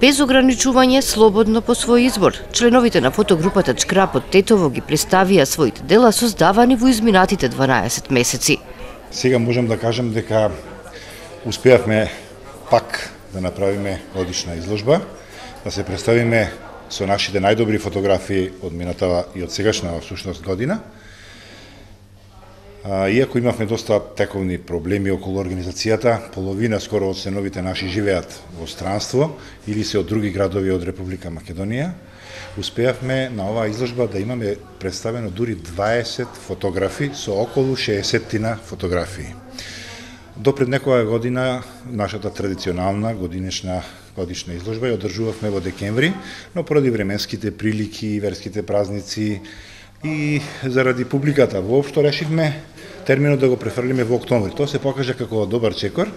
без ограничување, слободно по свој избор. Членовите на фотогрупата Чкрап од Тетово ги представија своите дела создавани во изминатите 12 месеци. Сега можам да кажам дека успеавме пак да направиме годишна изложба, да се представиме со нашите најдобри фотографии од минатава и од сегашна всушност година. Иако имавме доста тековни проблеми околу организацијата, половина скоро од членовите наши живеат во странство или се од други градови од Република Македонија, успеавме на оваа изложба да имаме представено дури 20 фотографи со околу 60 фотографии. До пред некоја година нашата традиционална годишна изложба ја одржувавме во декември, но поради временските прилики, верските празници и заради публиката воопшто решивме терминот да го префрлиме во октомври. Тоа се покажа како добар чекор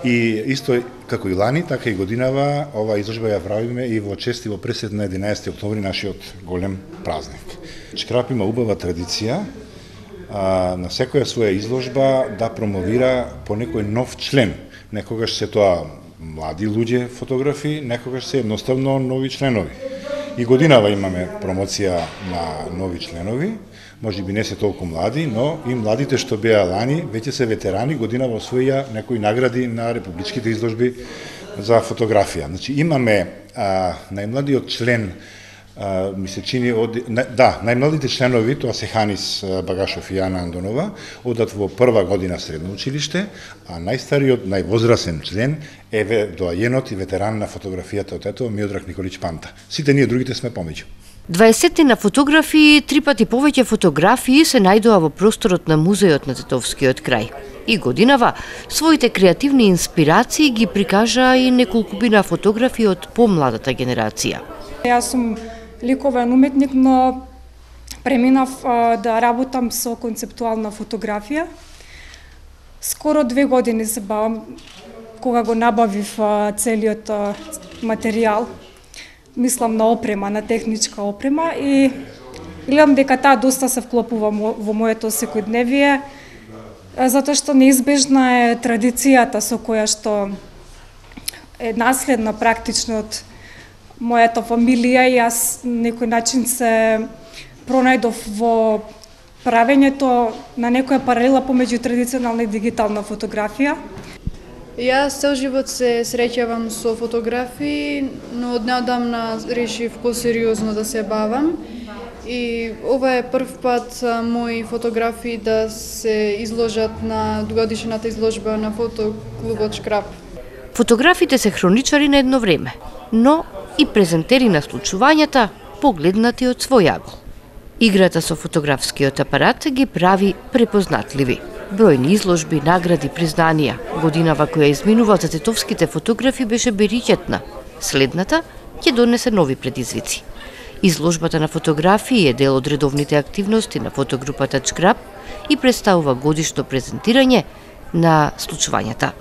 и исто како и лани, така и годинава оваа изложба ја правиме и во чест и во пресед на 11 октомври, нашиот голем празник. Чкрап има убава традиција на секоја своја изложба да промовира по некој нов член. Некогаш се тоа млади луѓе фотографи, некогаш се едноставно нови членови. И годинава имаме промоција на нови членови, може би не се толку млади, но и младите што беа лани, веќе се ветерани, годинава освоија некои награди на републичките изложби за фотографија. Значи имаме најмладиот член, ми се чини најмладите членови, тоа се Ханис Багашов и Јана Андонова, одат во прва година средно училиште, а најстариот, највозрасен член е доајенот и ветеран на фотографијата од Тетово Миодраг Николич Панта. Сите ние другите сме помеѓу. 20 на фотографии, 3 пати повеќе фотографии се најдоа во просторот на музејот на Тетовскиот крај. И годинава своите креативни инспирации ги прикажа и неколкумина фотографии од помладата генерација. Јас сум ликовен уметник, но преминав да работам со концептуална фотографија. Скоро 2 години се бавам кога го набавив целиот материјал. Мислам на опрема, на техничка опрема и гледам дека таа доста се вклопува во моето секојдневие, затоа што неизбежна е традицијата со која што е наследна практично од мојата фамилија и јас некој начин се пронајдов во правењето на некоја паралела помеѓу традиционална и дигитална фотографија. Јас цел живот се среќавам со фотографии, но однеодамна решив посериозно да се бавам. И ова е прв пат мои фотографии да се изложат на годишната изложба на фотоклубот Чкрап. Фотографите се хроничари на едно време, но и презентери на случувањата погледнати од свој агол. Играта со фотографскиот апарат ги прави препознатливи. Бројни изложби, награди, признанија. Годинава која изминува за тетовските фотографи беше бериќетна. Следната ќе донесе нови предизвици. Изложбата на фотографии е дел од редовните активности на фотогрупата Чкрап и представува годишно презентирање на случувањата.